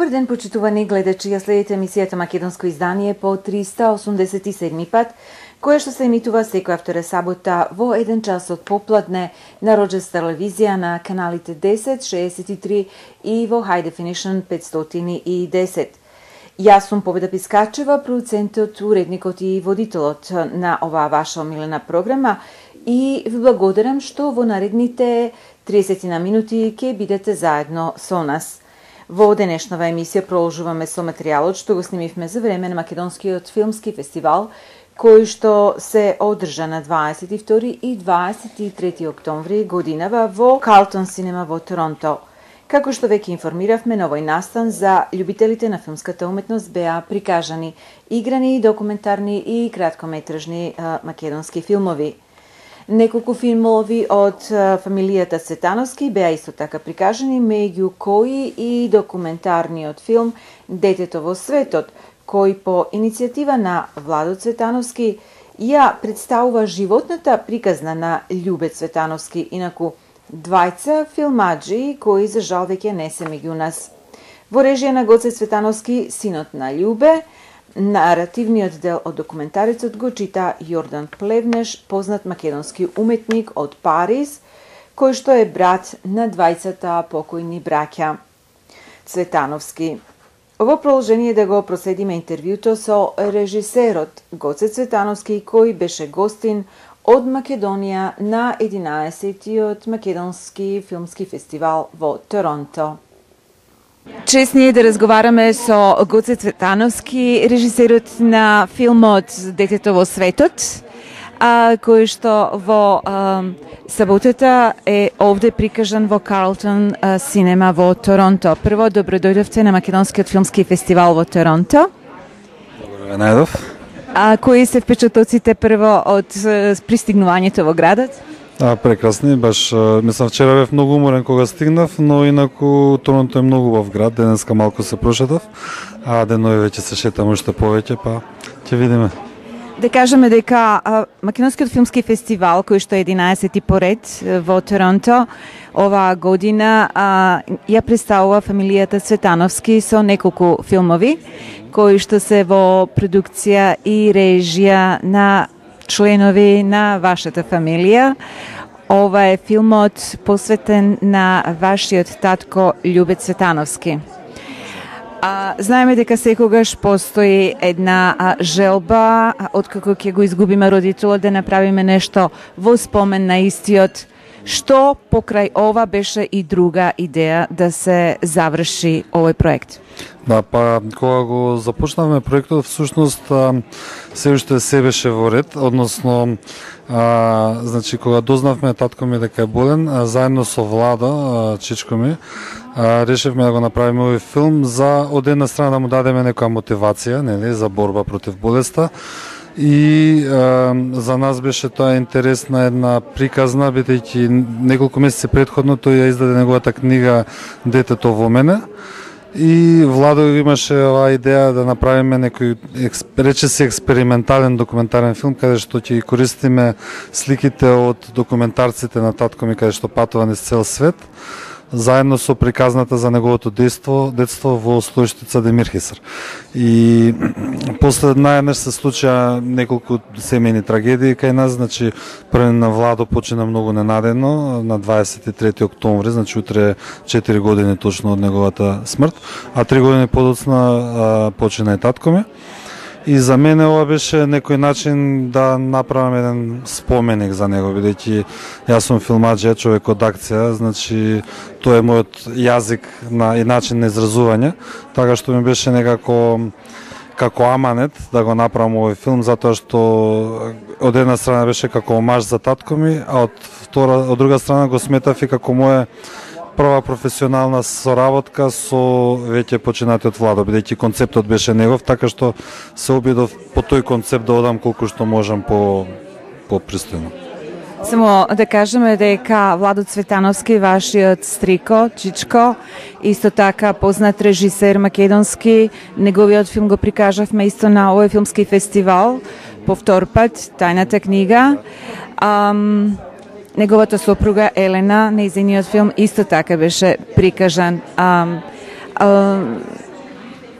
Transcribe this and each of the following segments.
Добар ден, почитувани гледачи, ја следите емисијата Македонско издание по 387 пат, која што се емитува секоја втора сабота во 1 час од попладне на Роџерс телевизија на каналите 10, 63 и во High Definition 510. Јас сум Победа Пискачева, продуцентот, уредникот и водителот на оваа ваша омилена програма и ви благодарам што во наредните 30 на минути ќе бидете заедно со нас. Во денешнава емисија продолжуваме со материјалот што го снимивме за време на Македонскиот филмски фестивал, кој што се одржа на 22 и 23 октомври годинава во Carlton Cinema во Торонто. Како што веќе информиравме, на овој настан за љубителите на филмската уметност беа прикажани играни, документарни и краткометражни македонски филмови. Неколку филмови од фамилијата Цветановски беа исто така прикажани, меѓу кои и документарниот филм Детето во светот, кој по иницијатива на Владо Цветановски ја представува животната приказна на Љубе Цветановски, инаку двајца филмаджи кои за жал веќе не се меѓу нас. Во режија на Гоце Цветановски, синот на Љубе, наративниот дел од документарецот го чита Јордан Плевнеш, познат македонски уметник од Париз, кој што е брат на двајцата покојни браќа Цветановски. Во продолжение да го проследиме интервјуто со режисерот Гоце Цветановски, кој беше гостин од Македонија на 11-тиот Македонски филмски фестивал во Торонто. Чест ни е да разговараме со Гоце Цветановски, режисерот на филмот Детето во светот, кој што во саботата е овде прикажан во Carlton Cinema во Торонто. Прво, добродојдовте на Македонскиот филмски фестивал во Торонто. Благодаря, најдов. Кои се впечатоците прво од пристигнувањето во градот? Прекрасни, баш мислам вчера бев многу уморен кога стигнав, но инаку Торонто е многу убав град, денеска малку се прошетав, а денови веќе се шетам уште повеќе, па ќе видиме. Да кажеме дека Македонскиот филмски фестивал, кој што е 11-ти поред во Торонто, оваа година ја представува фамилијата Цветановски со неколку филмови, кои што се во продукција и режија на членови на вашата фамилија. Ова е филмот посветен на вашиот татко Љубе Цветановски. Знаеме дека секогаш постои една желба, откако ќе го изгубиме родителот, да направиме нешто во спомен на истиот, што покрај ова беше и друга идеја да се заврши овој проект. Да, па кога го започнавме проектот, всушност се уште се беше во ред, односно значи кога дознавме татко ми дека е болен, заедно со Владо, чичко ми, решивме да го направиме овој филм за од една страна да му дадеме некоја мотивација, нели, за борба против болеста. И за нас беше тоа интересна една приказна, бидејќи неколку месеци претходно тој ја издаде неговата книга Детето во мене. И Владо имаше оваа идеја да направиме некој, рече се, експериментален документарен филм, каде што ќе користиме сликите од документарците на татко ми, каде што патува низ цел свет, заедно со приказната за неговото детство во Слојштица Демирхисар. И после најнаш се случија неколку семејни трагедии кај нас, значи прво на Владо почина многу ненадено на 23 октомври, значи утре 4 години точно од неговата смрт, а 3 години подоцна почина и татко ми. И за мене ова беше некој начин да направам еден споменик за него, бидејќи јас сум филмаџија, човек од акција, значи тоа е мојот јазик и начин на изразување, така што ми беше некако како аманет да го направам овој филм, затоа што од една страна беше како омаж за татко ми, а од друга страна го сметав и како моја прва професионална соработка со веќе починатиот Владо, бидејќи концептот беше негов, така што се обидов по тој концепт да одам колку што можам по пристојно. Само да кажеме дека Владо Цветановски, вашиот стрико, чичко, исто така познат режисер македонски, неговиот филм го прикажавме исто на овој филмски фестивал, по втор пат, Тајната книга. Неговата сопруга Елена, нејзиниот филм исто така беше прикажан.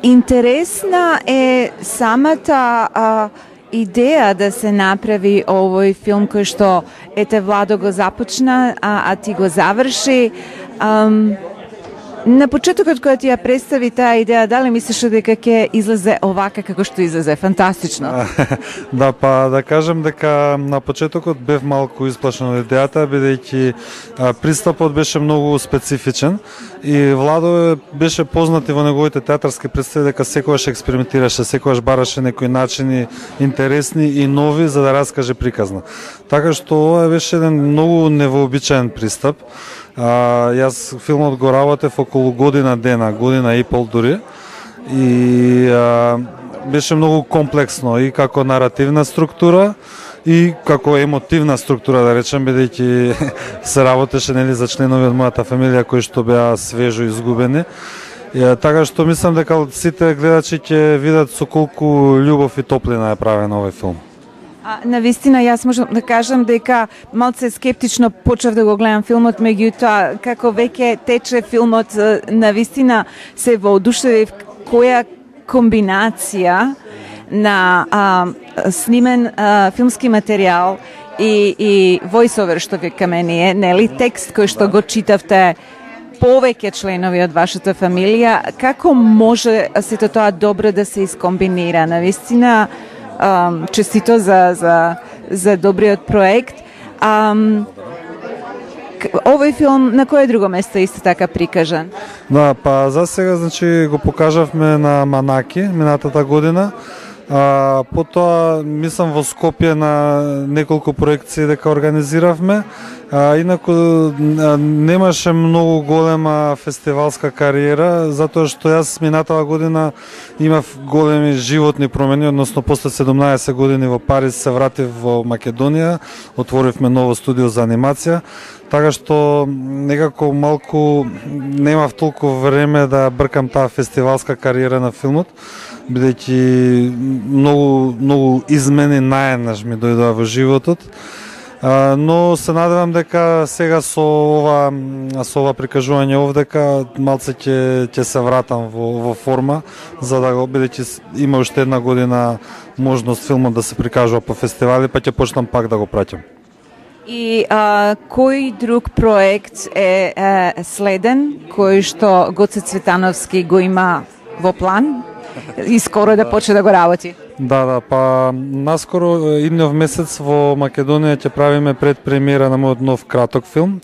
Интересна е самата идеја да се направи овој филм кој што ете Владо го започна, а ти го заврши. На почетокот кога ти ја представи таа идеја, дали мислиш дека ќе излезе овака како што излезе? Фантастично. Да, па да кажем дека на почетокот бев малку исплашен од идејата, бидејќи пристапот беше многу специфичен и Владо беше познат и во неговите театарски представи дека секогаш експериментираше, секогаш бараше некои начини интересни и нови за да раскаже приказна. Така што ова беше еден многу невообичаен пристап. Јас филмот го работев околу година дена, година и пол дури, и беше многу комплексно и како наративна структура и како емотивна структура, да речем, бидејќи се работеше нели за членови од мојата фамилија кои што беа свежо изгубени. Така што мислам дека сите гледачи ќе видат со колку љубов и топлина е правен овој филм. Навистина, јас можам да кажам дека малце скептично почнав да го гледам филмот, меѓутоа како веќе тече филмот, навистина се воодушевив која комбинација на снимен филмски материјал и voiceover што вика мене е, нели, текст кој што го читавте повеќе членови од вашата фамилија, како може сето тоа добро да се искомбинира? Навистина, честито за добриот проект. Овој филм на кое друго место исто така прикажан? Да, па за сега значи го покажавме на Манаки минатата година. Потоа мислам во Скопје на неколку проекции дека организиравме. Инаку немаше многу голема фестивалска кариера, затоа што јас минатава година имав големи животни промени, односно после 17 години во Париз се вратив во Македонија, отворивме ново студио за анимација, така што некако малку немав толку време да бркам таа фестивалска кариера на филмот, бидејќи многу измени наеднаш ми дојдоа во животот. Но се надевам дека сега со ова прикажување овдека малце ќе се вратам во форма, за да го, бидејќи има уште една година можност филмот да се прикажува по фестивали, па ќе почнам пак да го праќам. И кој друг проект е следен, кој што Гоце Цветановски го има во план и скоро да почне да го работи? Да, па наскоро иднев месец во Македонија ќе правиме предпремиера на мојот нов краток филм.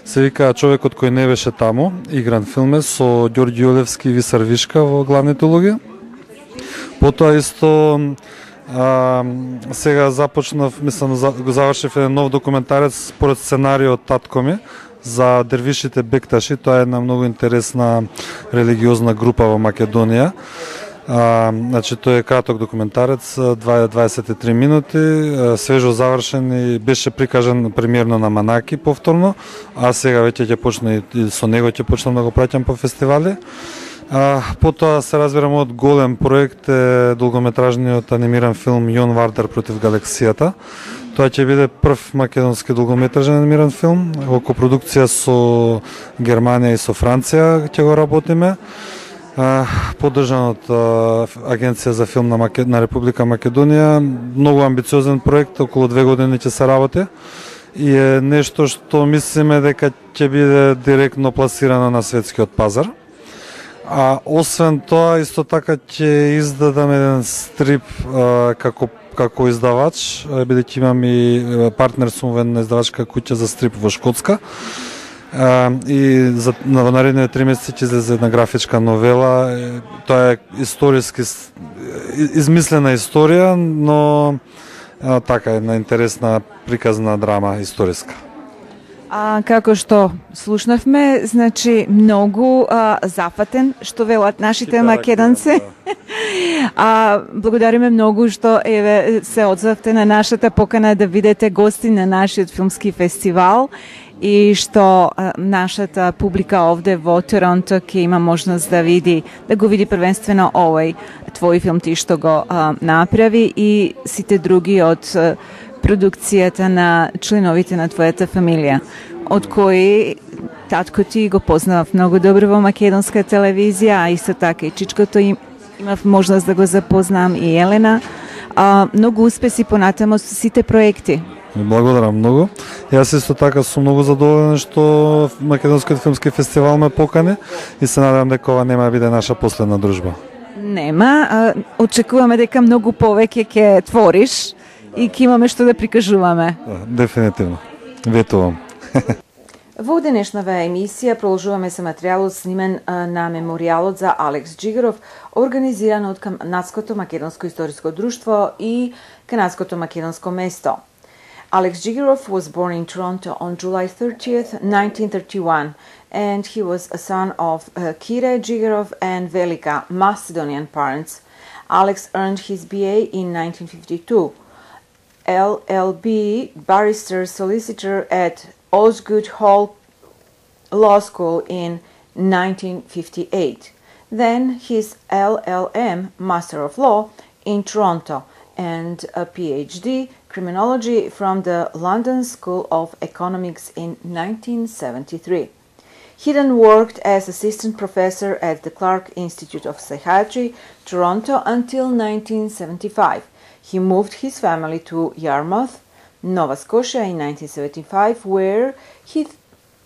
Се вика Човекот кој не беше таму, игран филм е со Ѓорѓи Јолевски и Висар Вишка во главните улоги. Потоа исто сега започнав, мислам го завршив еден нов документарец според сценариот Татко ми за дервишите бекташи. Тоа е една многу интересна религиозна група во Македонија. Значи тој е краток документарец, 23 минути, свежо завршен и беше прикажан премиерно на Манаки повторно, а сега веќе ќе почне и со него ќе почнам да го праќам по фестивали. Потоа се разбира мојот голем проект е долгометражниот анимиран филм Јон Вардар против галаксијата. Тоа ќе биде прв македонски долгометражен анимиран филм во копродукција со Германија и со Франција ќе го работиме. Поддржан од Агенција за филм на Република Македонија. Многу амбициозен проект, околу 2 години ќе се работи и е нешто што мислиме дека ќе биде директно пласирано на светскиот пазар. Освен тоа, исто така ќе издадам еден стрип како издавач, бидејќи имам и партнер сум во една издавачка куќа за стрип во Шкотска. И во наредните 3 месеци ќе излезе една графичка новела. Тоа е историски измислена историја, но така една интересна приказна драма историска. Како што слушнавме, значи многу зафатен, што велат нашите македонци. Благодариме многу што се одзовте на нашата покана да видите гости на нашиот филмски фестивал и што нашата публика овде во Торонто ќе има можност да го види првенствено овој твој филм ти што го направи и сите други од продукцијата на членовите на твојата фамилија, од кои татко ти го познавав многу добро во македонска телевизија, а исто така и чичкото им Имав можност да го запознам и Елена. Многу успеси понатамо со сите проекти. Благодарам многу. Јас исто така сум многу задоволен што Македонскиот филмски фестивал ме покани и се надевам дека ова нема да биде наша последна дружба. Нема, очекуваме дека многу повеќе ќе твориш и ќе имаме што да прикажуваме. Дефинитивно. Ветувам. Во денешнава емисија продолжуваме со материјалот снимен на меморијалот за Алекс Джигаров, организиран од Канадското македонско историско друштво и Канадското македонско место. Alex Jigarov was born in Toronto on July 30th, 1931, and he was a son of Kire Jigarov and Velika, Macedonian parents. Alex earned his BA in 1952, LLB, barrister solicitor at Osgood Hall Law School in 1958. Then his LLM, Master of Law, in Toronto, and a PhD criminology from the London School of Economics in 1973. He then worked as assistant professor at the Clark Institute of Psychiatry, Toronto, until 1975. He moved his family to Yarmouth, Nova Scotia in 1975, where he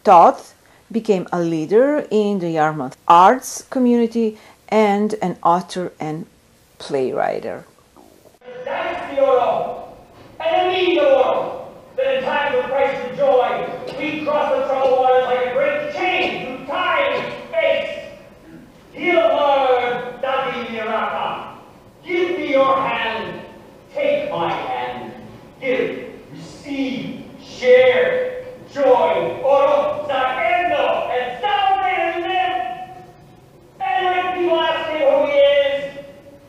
taught, became a leader in the Yarmouth arts community, and an author and playwright. That's the euro, and we need the world, that in times of crisis and joy, we cross the troubled waters like a great chain through time and space. Dear Lord, Dadi Miraka, give me your hand, take my hand, give, receive, share, joy, oro, saendo, and celebrate and live. And when people ask him who he is,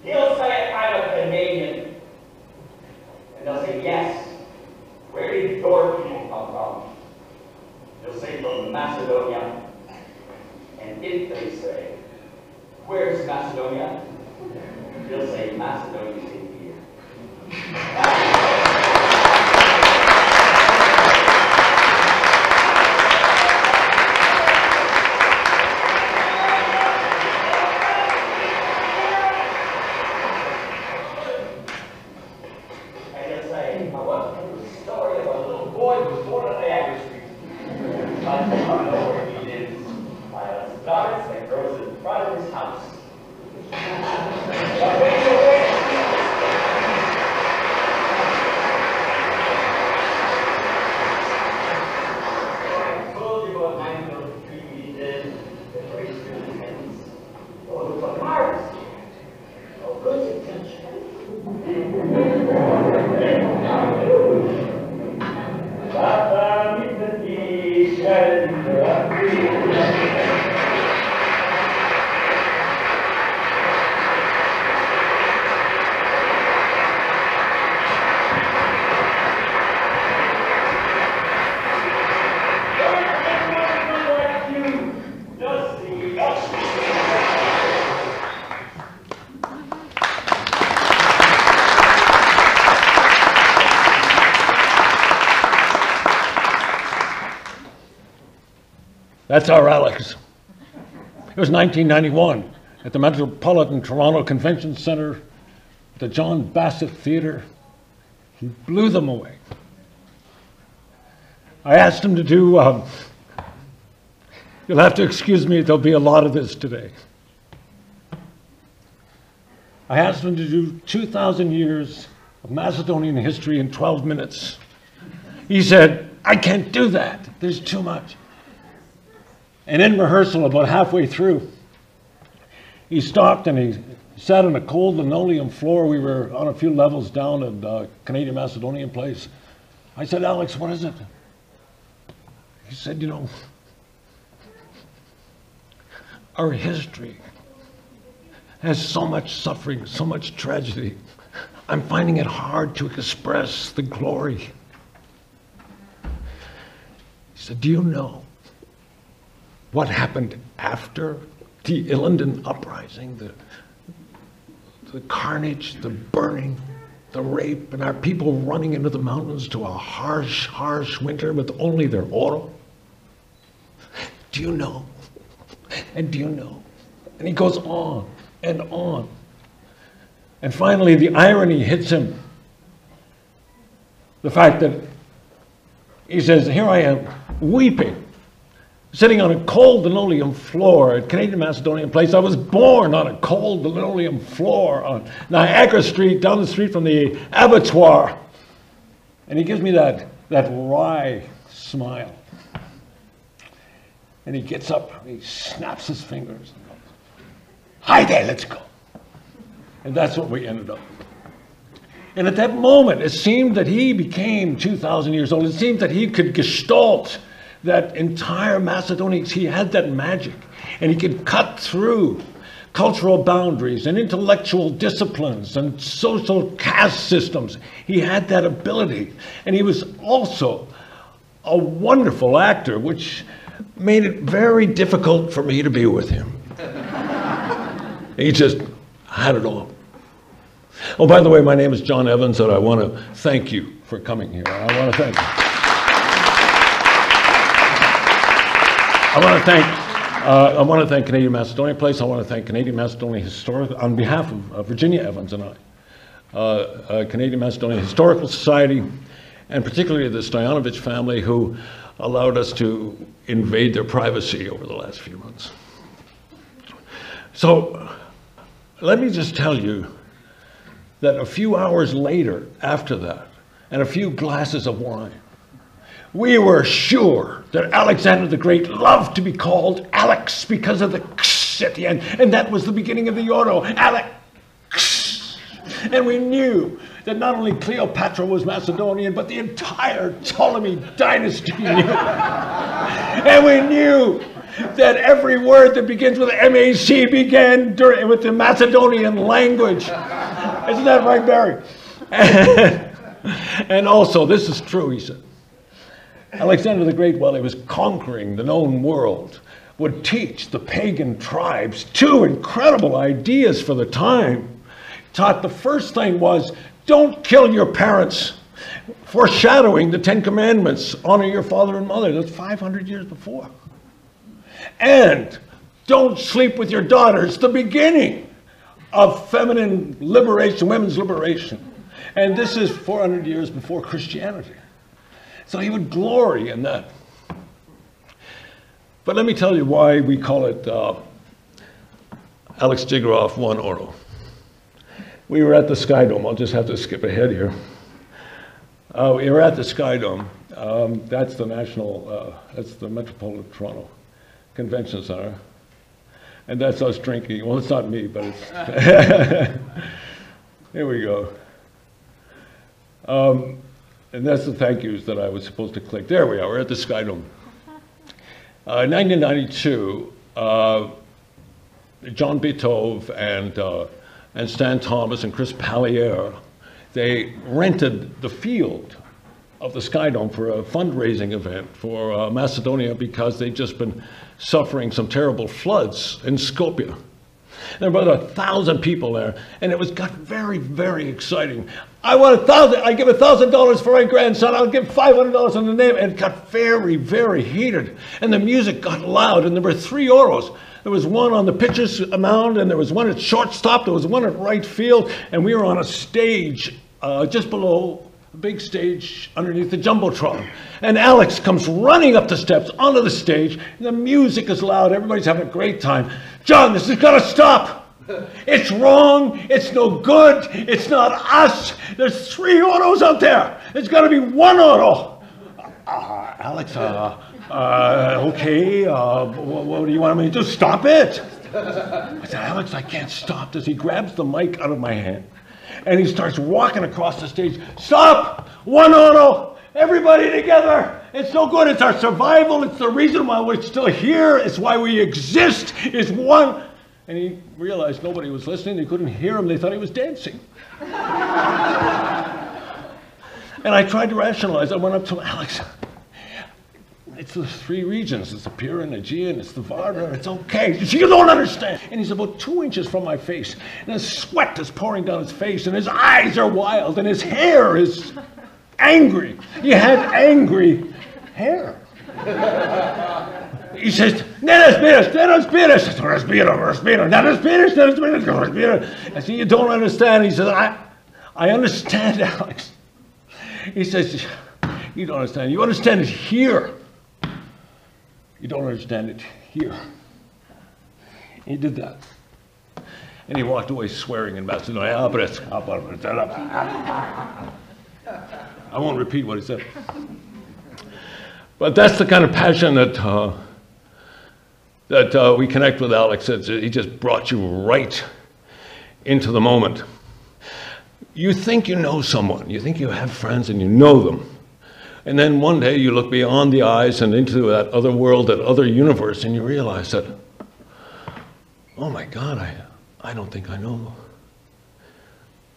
he'll say, I'm a Canadian. And they'll say, yes. Where did your people come from? They'll say, from Macedonia. And if they say, where's Macedonia? They'll say, Macedonia's in here. That's our Alex. It was 1991 at the Metropolitan Toronto Convention Centre, the John Bassett Theatre. He blew them away. I asked him to do, you'll have to excuse me, there'll be a lot of this today. I asked him to do 2,000 years of Macedonian history in 12 minutes. He said, I can't do that, there's too much. And in rehearsal, about halfway through, he stopped and he sat on a cold linoleum floor. We were on a few levels down at Canadian Macedonian Place. I said, Alex, what is it? He said, you know, our history has so much suffering, so much tragedy. I'm finding it hard to express the glory. He said, do you know what happened after the Ilinden uprising, the carnage, the burning, the rape, and our people running into the mountains to a harsh, harsh winter with only their oro? Do you know? And do you know? And he goes on and on And finally, the irony hits him. The fact that he says, here I am, weeping, sitting on a cold linoleum floor at Canadian Macedonian Place. I was born on a cold linoleum floor on Niagara Street, down the street from the abattoir. And he gives me that wry smile. And he gets up, he snaps his fingers and goes, hi there, let's go. And that's what we ended up. And at that moment, it seemed that he became 2,000 years old. It seemed that he could gestalt that entire Macedonia. He had that magic, and he could cut through cultural boundaries and intellectual disciplines and social caste systems. He had that ability, and he was also a wonderful actor, which made it very difficult for me to be with him. He just had it all. Oh, by the way, my name is John Evans, and I want to thank you for coming here. I want to thank you. I want to thank Canadian Macedonian Place. I want to thank Canadian Macedonian Historical, on behalf of Virginia Evans and I, Canadian Macedonian Historical Society, and particularly the Stoyanovich family, who allowed us to invade their privacy over the last few months. So let me just tell you that a few hours later, after that, and a few glasses of wine, we were sure that Alexander the Great loved to be called Alex because of the ksh at the end, and that was the beginning of the Euro, Alex. And we knew that not only Cleopatra was Macedonian, but the entire Ptolemy dynasty knew. And we knew that every word that begins with MAC began with the Macedonian language. Isn't that right, Barry? And also, this is true, he said. Alexander the Great, while he was conquering the known world, would teach the pagan tribes two incredible ideas for the time. Taught the first thing was, don't kill your parents, foreshadowing the Ten Commandments, honor your father and mother. That's 500 years before. And don't sleep with your daughters, the beginning of feminine liberation, women's liberation. And this is 400 years before Christianity. So he would glory in that. But let me tell you why we call it Alex Jigarov 1 Oro. We were at the Sky Dome. I'll just have to skip ahead here. We were at the Sky Dome. That's the that's the Metropolitan Toronto Convention Center. And that's us drinking. Well, it's not me, but it's... Here we go. And that's the thank yous that I was supposed to click. There we are, we're at the Sky Dome. In 1992, John Beethoven and Stan Thomas and Chris Pallier, they rented the field of the Sky Dome for a fundraising event for Macedonia because they'd just been suffering some terrible floods in Skopje. There were about 1,000 people there, and it got very, very exciting. I want 1,000, I give $1,000 for my grandson, I'll give $500 on the name, and it got very, very heated. And the music got loud, and there were 3 Oros. There was one on the pitcher's mound, and there was one at shortstop, there was one at right field, and we were on a stage just below, a big stage underneath the Jumbotron. And Alex comes running up the steps onto the stage, and the music is loud, everybody's having a great time. John, this has got to stop. It's wrong, it's no good, it's not us. There's 3 Oros out there. There's got to be 1 Oro. Alex, okay, what do you want me to do? Stop it. I said, Alex, I can't stop this. He grabs the mic out of my hand, and he starts walking across the stage. Stop! 1 Oro! Everybody together! It's no good. It's our survival. It's the reason why we're still here. It's why we exist. It's one. And he realized nobody was listening. They couldn't hear him. They thought he was dancing. And I tried to rationalize. I went up to him, Alex, it's the 3 regions. It's the Pirin, Aegean, it's the Vardar. It's okay. You don't understand. And he's about 2 inches from my face. And his sweat is pouring down his face. And his eyes are wild. And his hair is angry. He had angry hair. He says, "No respires. I said, "You don't understand." He says, I understand, Alex. He says, "You don't understand. You understand it here. You don't understand it here." He did that. And he walked away swearing in Macedonian. I won't repeat what he said. But that's the kind of passion that we connect with Alex. He just brought you right into the moment. You think you know someone, you think you have friends and you know them. And then one day you look beyond the eyes and into that other world, that other universe, and you realize that, oh my God, I don't think I know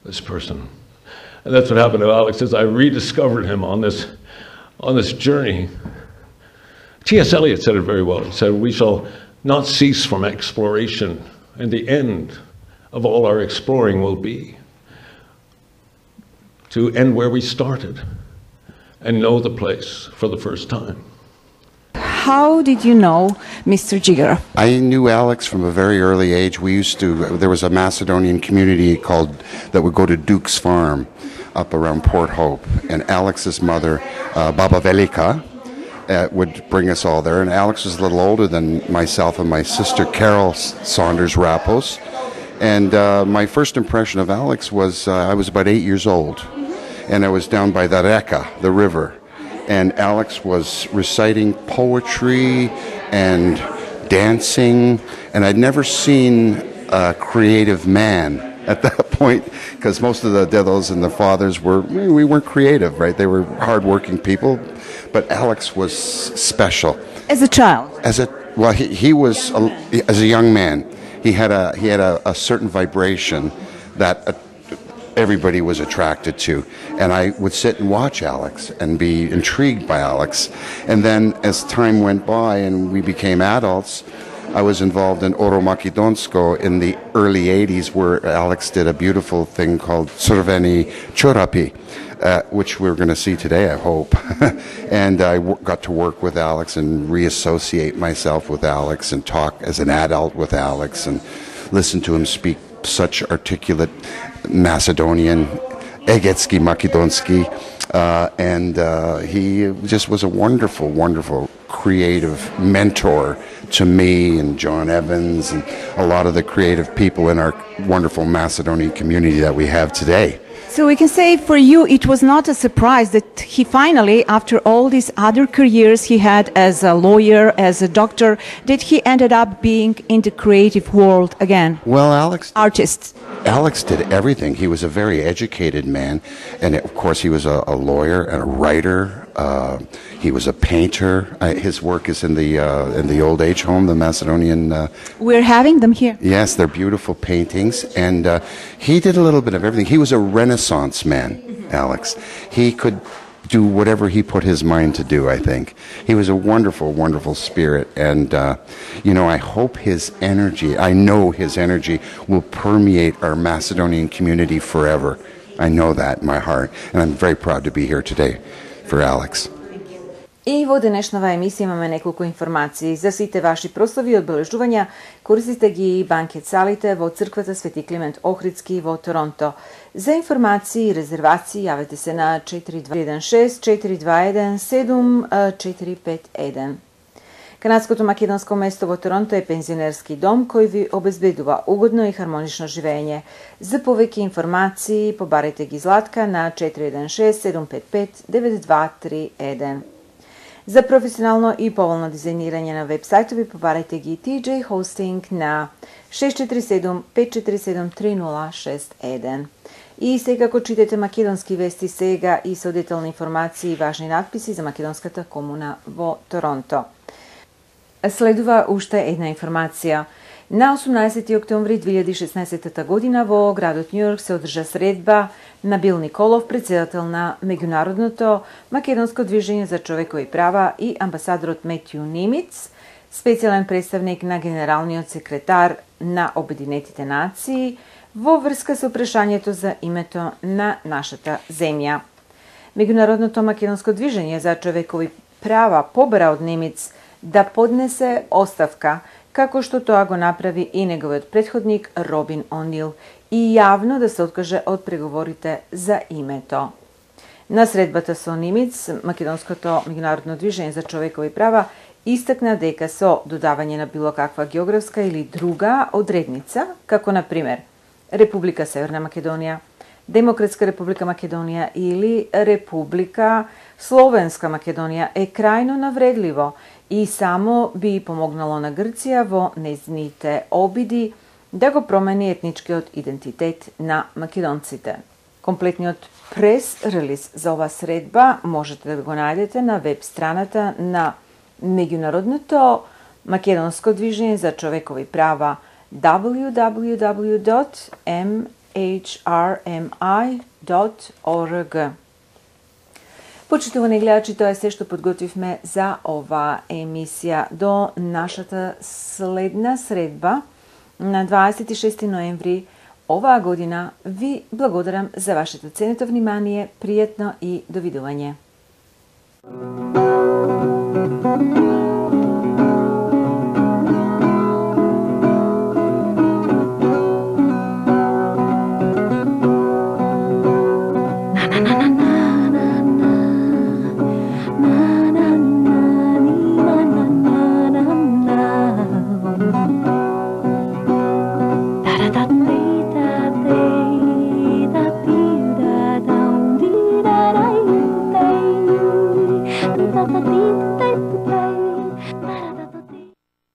this person. And that's what happened to Alex, is I rediscovered him on this journey. T.S. Eliot said it very well. He said, "We shall not cease from exploration, and the end of all our exploring will be to end where we started and know the place for the first time." How did you know Mr. Jigarov? I knew Alex from a very early age. There was a Macedonian community that would go to Duke's Farm up around Port Hope, and Alex's mother, Baba Velika, would bring us all there. And Alex was a little older than myself and my sister Carol Saunders Rappos. And my first impression of Alex was I was about 8 years old, and I was down by the Reka, the river, and Alex was reciting poetry and dancing, and I'd never seen a creative man at that point, because most of the dedos and the fathers we weren't creative, right? They were hardworking people, but Alex was special. As a child? He was as a young man. He had a certain vibration that everybody was attracted to, and I would sit and watch Alex and be intrigued by Alex. And then as time went by and we became adults, I was involved in Oro Makedonsko in the early 80s, where Alex did a beautiful thing called Crveni Chorapi, which we're going to see today, I hope. And I got to work with Alex and reassociate myself with Alex and talk as an adult with Alex and listen to him speak such articulate Macedonian, Egetski Makedonski, and he just was a wonderful, wonderful creative mentor to me and John Evans and a lot of the creative people in our wonderful Macedonian community that we have today. So we can say for you it was not a surprise that he finally, after all these other careers he had as a lawyer, as a doctor, that he ended up being in the creative world again. Well, Artist. Alex did everything. He was a very educated man, and of course he was a lawyer and a writer. He was a painter. His work is in the old age home, the Macedonian. We're having them here. Yes, they're beautiful paintings, and he did a little bit of everything. He was a Renaissance man, Alex. He could do whatever he put his mind to do, I think. He was a wonderful, wonderful spirit, and I hope I know his energy will permeate our Macedonian community forever. I know that in my heart, and I'm very proud to be here today for Alex. И во денешнава емисија имаме неколку информации. За сите ваши прослави и одбележувања користите ги банкет салите во црквата Свети Климент Охридски во Торонто. За информации и резервации јавете се на 4216-421-7451. Канадското македонско место во Торонто е пензионерски дом кој ви обезбедува угодно и хармонично живење. За повеќе информации побарете ги Златка на 416-755-9231. За професионално и поволно дизајнирање на вебсајтови побарете ги TJ Hosting на 647-547-3061. И секако читате македонски вести сега и со детални информации и важни надписи за македонската комуна во Торонто. Следува уште една информација. На 18 октомври 2016 година во градот Њујорк се одржа средба на Бил Николов, председател на Меѓународното македонско движење за човекови права, и амбасадорот Метју Нимиц, специјален представник на генералниот секретар на Обединетите нации, во врска со прашањето за името на нашата земја. Меѓународното македонско движење за човекови права побара од Немец да поднесе оставка, како што тоа го направи и неговиот претходник Робин О'Нил, и јавно да се откаже од преговорите за името. На средбата со Нимиц, Македонското меѓународно движење за човекови права истакна дека со додавање на било каква географска или друга одредница, како на пример Република Северна Македонија, Демократска Република Македонија или Република Словенска Македонија, е крајно навредливо и само би помогнало на Грција во нејзините обиди да го промени етничкиот идентитет на македонците. Комплетниот прес-релиз за ова средба можете да го најдете на веб страната на Меѓународното македонско движење за човекови права www.mhrmi.org. Почитувани гледачи, тоа е се што подготвивме за ова емисија. До нашата следна средба на 26 ноември оваа година ви благодарам за вашето ценето внимание, пријатно и довидување.